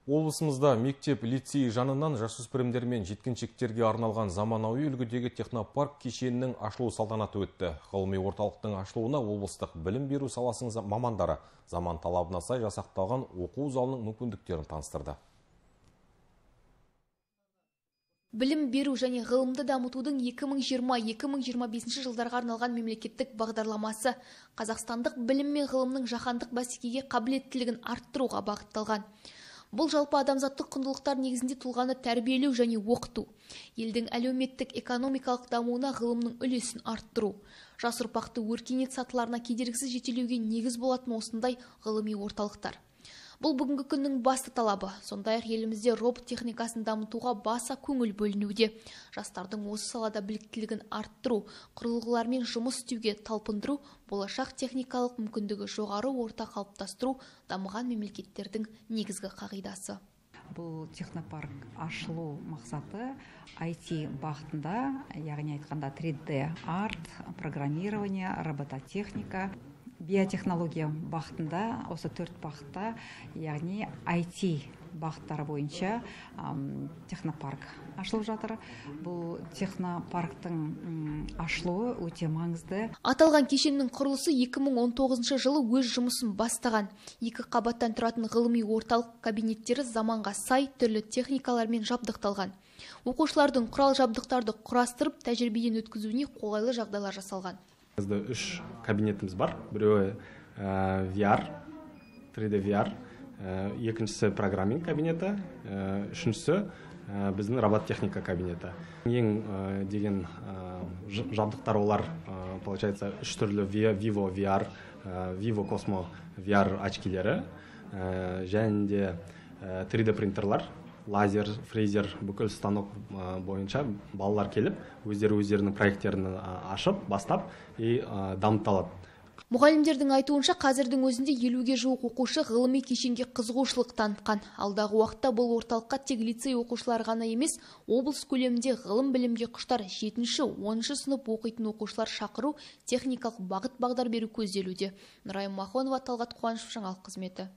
Облысымызда мектеп лицей жанынан жасөспірімдер мен жеткіншектерге арналған заманауи үлгідегі технопарк кешенінің ашылу салтанаты өтті. Ғылыми орталықтың ашылуына облыстық білім беру саласының мамандары заман талабына сай жасақталған оқу залының мүмкіндіктерін таныстырды. Білім беру және ғылымды дамытудың 2020-2025 жылдарға арналған мемлекеттік бағдарламасы қазақстандық білім мен ғылымның жаһандық бәсекеге қабілеттілігін арттыруға бағытталған. Бұл жалпы адамзаттық құндылықтар негізінде тұлғаны тәрбиелеу және оқыту, елдің әлеуметтік экономикалық дамуына ғылымның үлесін арттыру, жас ұрпақты өркениет сатыларына кедергісіз жетелеуге негіз болатын осындай ғылыми орталықтар. Бұл бүгінгі күннің басты талабы. Сондай-ақ елімізде робот техникасын дамытуға баса көңіл бөлінуде. Жастардың осы салада біліктілігін арттыру, құрылғылармен жұмыс істеуге талпындыру, болашақ техникалық мүмкіндігі жоғары орта қалыптастыру дамыған мемлекеттердің негізгі қағидасы. Бұл технопарк ашылу мақсаты IT бағытында, яғни айтқанда 3D арт, программирование, робототехника, биотехнология бағытында, осы 4 бағытта, яғни IT бағыттары бойынша технопарк ашылып жатыр. Бұл технопарктың ашылуы өте маңызды. Аталған кешеннің құрылысы 2019 жылы өз жұмысын бастаған. 2 қабаттан тұратын ғылыми орталық кабинеттері заманға сай түрлі техникалармен жабдықталған. Оқушылардың құрал жабдықтарды құрастырып, тәжірибеден өткізуіне қолайлы жағдайлар жасалған. Бізде 3 кабинетіміз бар. Біреуі VR, 3D VR, екіншісі программинг кабинеті, үшіншісі біздің робототехника кабинеті. Ең деген жабдықтар олар, получается, 3 түрлі Vivo VR, Vivo Cosmo VR очкилері, және де 3D принтерлар, лазер, фрезер, бүкіл станок бойынша балалар келіп, өздерінің проекттерін ашып, бастап и дамыталады. Мұғалімдердің айтуынша қазірдің өзінде 50-ге жуық оқушы ғылыми кешенге қызығушылық танытқан. Алдағы уақытта бұл орталыққа тек лицей оқушылар ғана емес, облыс көлемінде ғылым білімге құштар 7-10 сынып оқитын оқушылар шақыру, техникалық бағыт-бағдар беру көзделуде. Нұрайым Махонова, Талғат Қуанышев, жаңалық қызметі.